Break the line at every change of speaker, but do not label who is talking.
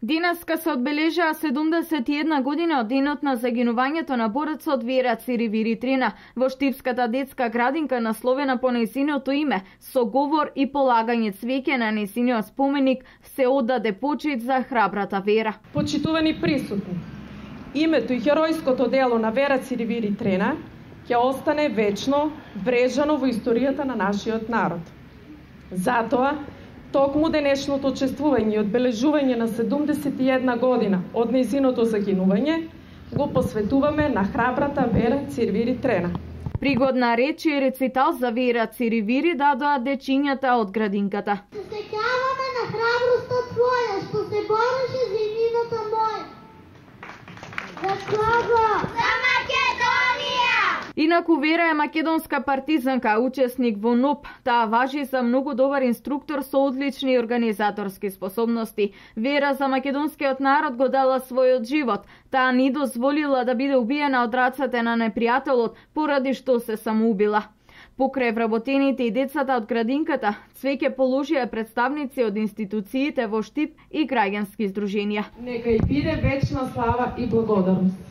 Денеска се одбележаа 71 година од денот на загинувањето на борецот Вера Циривири Трена во Штипската детска градинка насловена по нејзиното име, со говор и полагање цвеќе на нејзиниот споменик се оддаде почит за храбрата Вера.
Почитувани присутни, името и херојското дело на Вера Циривири Трена ќе остане вечно врежано во историјата на нашиот народ. Затоа, токму денешното чествување и одбележување на 71 година од нејзиното загинување го посветуваме на храбрата Вера Циривири Трена.
Пригодна реч и рецитал за Вера Циривири дадоа дечињата од градинката.
Се сеќаваме на храброста твоја, што се бореше за иднината моја. За кого? За Македонија!
Инаку Вера е македонска партизанка, учесник во НОП. Таа важи за многу добар инструктор со одлични организаторски способности. Вера за македонскиот народ го дала својот живот. Таа не дозволила да биде убиена од рацете на непријателот, поради што се самоубила. Покрај вработените и децата од градинката, цвеќе положија представници од институциите во Штип и граѓански здруженија.
Нека и биде вечна слава и благодарност.